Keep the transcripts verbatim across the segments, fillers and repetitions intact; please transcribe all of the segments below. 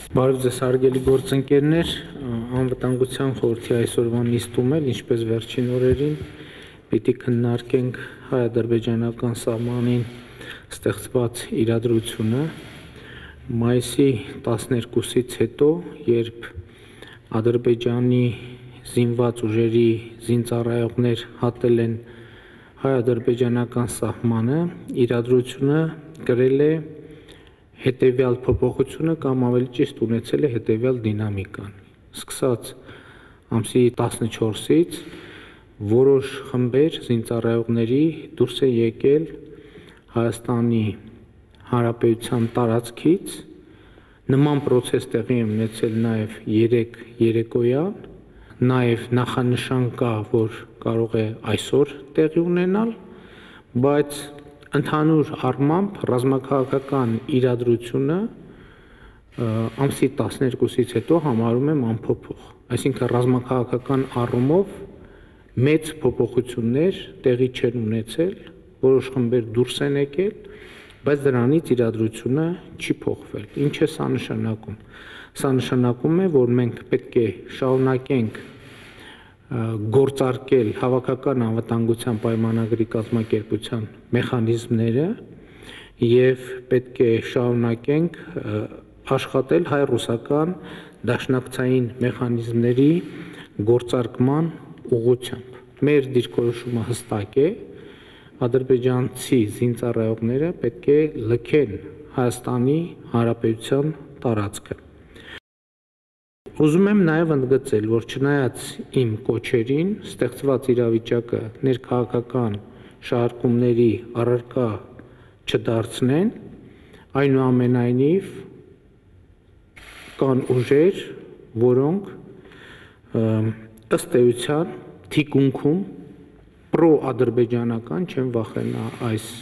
Բարև ձեզ հարգելի գործընկերներ, անվտանգության խորհրդի այսօրվա նիստում էլ, ինչպես վերջին օրերին, պիտի քննարկենք հայ-ադրբեջանական սահմանին ստեղծված իրադրությունը մայիսի տասներկուսից հետո, երբ Ադրբեջանի զինված ուժերի զինծառայողներ հատել են հայ-ադրբեջանական սահմանը, իրադրությունը կրել է հետևյալ փոփոխությունը կամ ավելի ճիշտ ունեցել է հետևյալ դինամիկան։ Սկսած ամսի տասնչորսից որոշ խմբեր զինծառայողների դուրս է եկել Հայաստանի Հանրապետության տարածքից, նման պրոցես տեղի է ունեցել նաև երեկ երեկոյան, նաև նախանշան կա, որ կարող է այսօր տեղի ունենալ, բայց ընդհանուր առմամբ ռազմաքաղաքական իրադրությունը ամսի տասներկուսից հետո համարում եմ անփոփոխ, այսինքն ռազմաքաղաքական առումով մեծ փոփոխություններ տեղի չեն ունեցել, որոշ խմբեր դուրս են եկել, բայց դրանից իրադրությունը չի փոխվել։ Ինչ է սա նշանակում։ Սա նշանակում է, որ մենք պետք է շարունակենք գործարկել հավաքական անվտանգության պայմանագրի կազմակերպության մեխանիզմները և պետք է շարունակենք աշխատել հայ-ռուսական դաշնակցային մեխանիզմների գործարկման ուղղությամբ։ Մեր դիրքորոշումը հստակ է, ադրբեջանցի զինծառայողները պետք է լքեն Հայաստանի Հանրապետության տարածքը։ Ուզում եմ նաև ընդգծել, որ չնայած իմ կոչերին, ստեղծված իրավիճակը ներքաղաքական շահարկումների առարկա չդարձնեն, այնուամենայնիվ կան ուժեր, որոնք ըստ էության թիկունքում պրոադրբեջանական, չեմ վախենա այս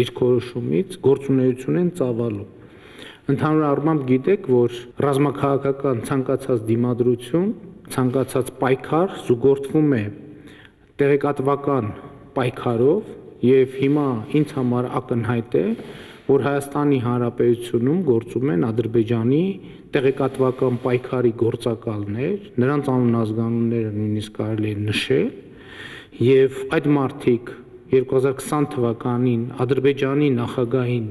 դիրքորոշումից, գործունեություն են ծավալում։ Ընդհանուր առմամբ գիտեք, որ ռազմաքաղաքական ցանկացած դիմադրություն, ցանկացած պայքար զուգորդվում է տեղեկատվական պայքարով և հիմա ինձ համար ակնհայտ է, որ Հայաստանի Հանրապետությունում գործում են Ադրբեջանի տեղեկատվական պայքարի գործակալներ, նրանց անուն-ազգանունները նույնիսկ կարելի է նշել, և այդ մարդիկ երկու հազար քսան թվականին Ադրբեջանի նախագահին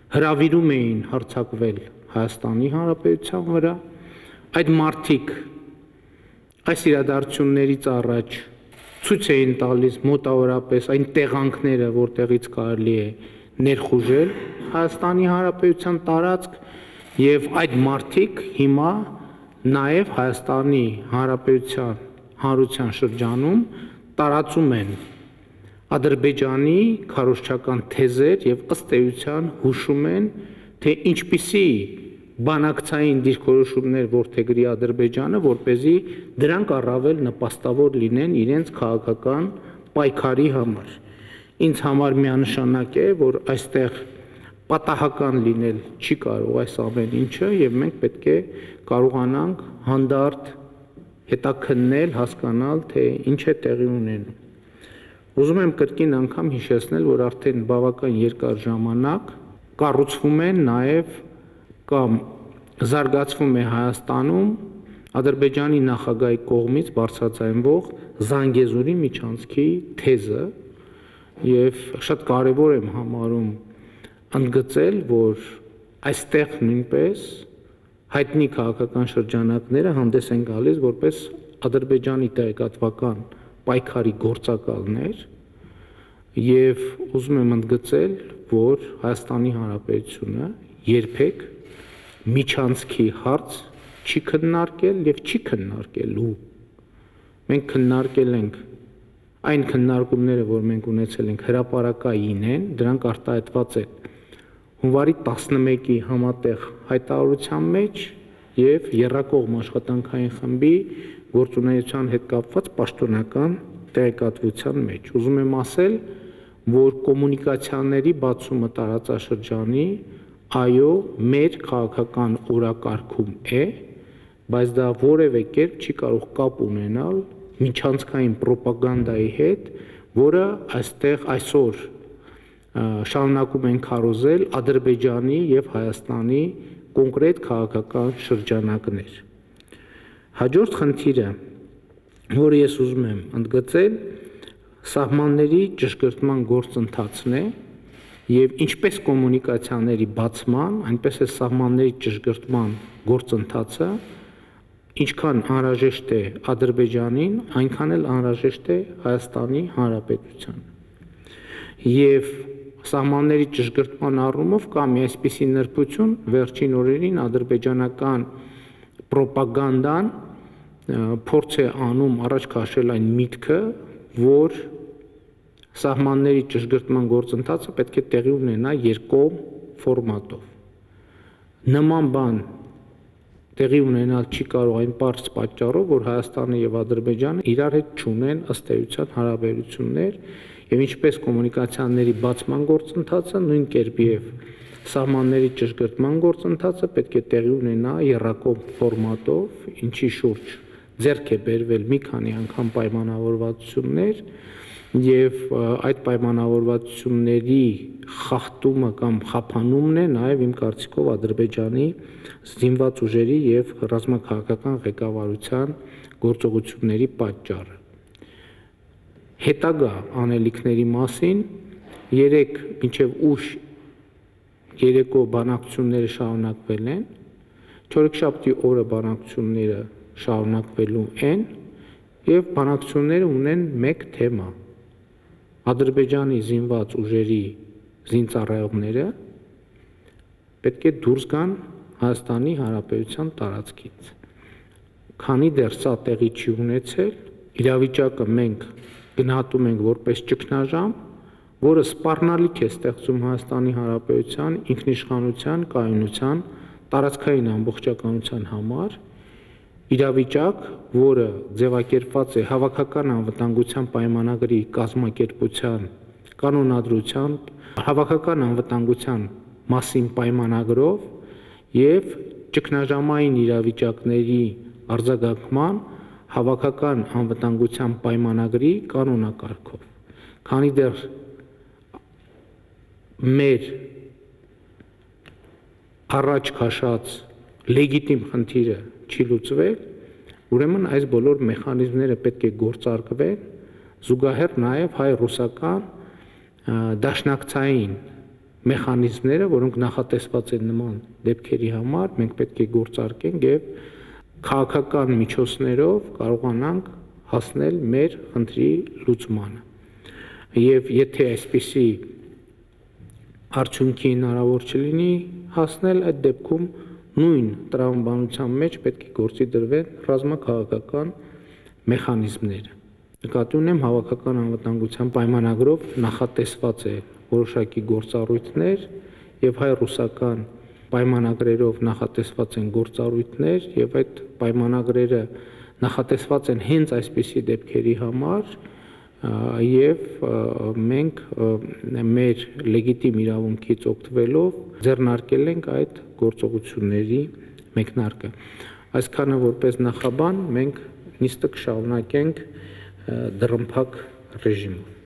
հրավիրում էին հարձակվել Հայաստանի Հանրապետության վրա, այդ մարդիկ այս իրադարձություններից առաջ ցույց էին տալիս մոտավորապես այն տեղանքները, որտեղից կարելի է ներխուժել Հայաստանի Հանրապետության տարածք, և այդ մարդիկ հիմա նաև Հայաստանի Հանրապետության հանրության շրջանում տարածում են Ադրբեջանի քարոզչական թեզեր և ըստ էության հուշում են, թե ինչպիսի բանակցային դիրքորոշումներ որդեգրի Ադրբեջանը, որպեսզի դրանք առավել նպաստավոր լինեն իրենց քաղաքական պայքարի համար։ Ինձ համար միանշանակ է, որ այստեղ պատահական լինել չի կարող այս ամեն ինչը, և մենք պետք է կարողանանք հանդարտ հետաքննել, հասկանալ, թե ինչ է տեղի ունենում։ Ուզում եմ կրկին անգամ հիշեցնել, որ արդեն բավական երկար ժամանակ կառուցվում է նաև կամ զարգացվում է Հայաստանում Ադրբեջանի նախագահի կողմից բարձրաձայնվող Զանգեզուրի միջանցքի թեզը, և շատ կարևոր եմ համարում ընդգծել, որ այստեղ նույնպես հայտնի քաղաքական շրջանակները հանդես են գալիս որպես Ադրբեջանի տեղեկատվական պայքարի գործակալներ, և ուզում եմ ընդգծել, որ Հայաստանի Հանրապետությունը երբեք միջանցքի հարց չի քննարկել և չի քննարկելու։ Մենք քննարկել ենք այն քննարկումները, որ մենք ունեցել ենք հրապարակային են, դրանք արտահայտված են հունվարի տասնմեկի համատեղ հայտարարության մեջ և եռակողմ աշխատանքային խմբի գործունեության հետ կապված պաշտոնական տեղեկատվության մեջ։ Ուզում եմ ասել, որ կոմունիկացիաների բացումը տարածաշրջանի, այո, մեր քաղաքական օրակարգում է, բայց դա որևէ կերպ չի կարող կապ ունենալ միջանցքային պրոպագանդայի հետ, որը այստեղ այսօր շարունակում են քարոզել Ադրբեջանի եւ Հայաստանի կոնկրետ քաղաքական շրջանակներ։ Հաջորդ խնդիրը, որը ես ուզում եմ ընդգծել, սահմանների ճշգրտման գործընթացն է եւ ինչպես կոմունիկացիաների բացման, այնպես է սահմանների ճշգրտման գործընթացը, ինչքան անհրաժեշտ է Ադրբեջանին, այնքան էլ անհրաժեշտ է Հայաստանի Հանրապետության։ Եվ սահմանների ճշգրտման առումով կա մի այսպիսի նրբություն, վերջին օրերին ադրբեջանական պրոպագանդան փորձ է անում առաջ քաշել այն միտքը, որ սահմանների ճշգրտման գործընթացը պետք է տեղի ունենա երկկողմ ֆորմատով։ Նման բան տեղի ունենալ չի կարող այն պարզ պատճառով, որ Հայաստանը եւ Ադրբեջանը իրար հետ չունեն ըստ էության հարաբերություններ եւ ինչպես կոմունիկացիաների բացման գործընթացը, նույն կերպ եւ սահմանների ճշգրտման գործընթացը պետք է տեղի ունենա եռակողմ ֆորմատով, ինչի շուրջ ձեռք է բերվել մի քանի անգամ պայմանավորվածություններ եւ այդ պայմանավորվածությունների խախտումը կամ խափանումն է նաեւ իմ կարծիքով Ադրբեջանի զինված ուժերի եւ ռազմաքաղաքական ղեկավարության գործողությունների պատճառը։ Հետագա անելիքների մասին երեք մինչև ուշ երեկո բանակցությունները շարունակվել են, չորեքշաբթի օրը բանակցությունները շարունակվելու են եւ բանակցությունները ունեն մեկ թեմա՝ Ադրբեջանի զինված ուժերի զինծառայողները պետք է դուրս գան Հայաստանի Հանրապետության տարածքից։ Քանի դեռ սա տեղի չի ունեցել, իրավիճակը մենք գնահատում ենք որպես ճգնաժամ, որը սպառնալիք է ստեղծում Հայաստանի Հանրապետության ինքնիշխանության, կայունության, տարածքային ամբողջականության համար, իրավիճակ, որը ձևակերպված է Հավաքական անվտանգության պայմանագրի կազմակերպության կանոնադրությամբ, Հավաքական անվտանգության մասին պայմանագրով եւ ճգնաժամային իրավիճակների արձագանքման Հավաքական անվտանգության պայմանագրի կանոնակարգով։ Քանի դեռ մեր առաջ քաշած լեգիտիմ խնդիրը չի լուծվել, ուրեմն այս բոլոր մեխանիզմները պետք է գործարկվեն, զուգահեռ նաև հայ-ռուսական դաշնակցային մեխանիզմները, որոնք նախատեսված են նման դեպքերի համար, մենք պետք է գործարկենք եւ քաղաքական միջոցներով կարողանանք հասնել մեր խնդրի լուծմանը։ Եվ եթե այսպիսի արդյունքի հնարավոր չլինի հասնել, այդ դեպքում նույն տրամաբանության մեջ պետք է գործի դրվեն ռազմաքաղաքական մեխանիզմները։ Նկատի ունեմ Հավաքական անվտանգության պայմանագրով նախատեսված է որոշակի գործառույթներ եւ հայ-ռուսական պայմանագրերով նախատեսված են գործառույթներ եւ այդ պայմանագրերը նախատեսված են հենց այսպիսի դեպքերի համար եւ մենք մեր լեգիտիմ իրավունքից օգտվելով ձեռնարկել ենք այդ գործողությունների մեկնարկը։ Այսքանը որպես նախաբան մենք նիստը կշարունակենք դռնփակ ռեժիմով։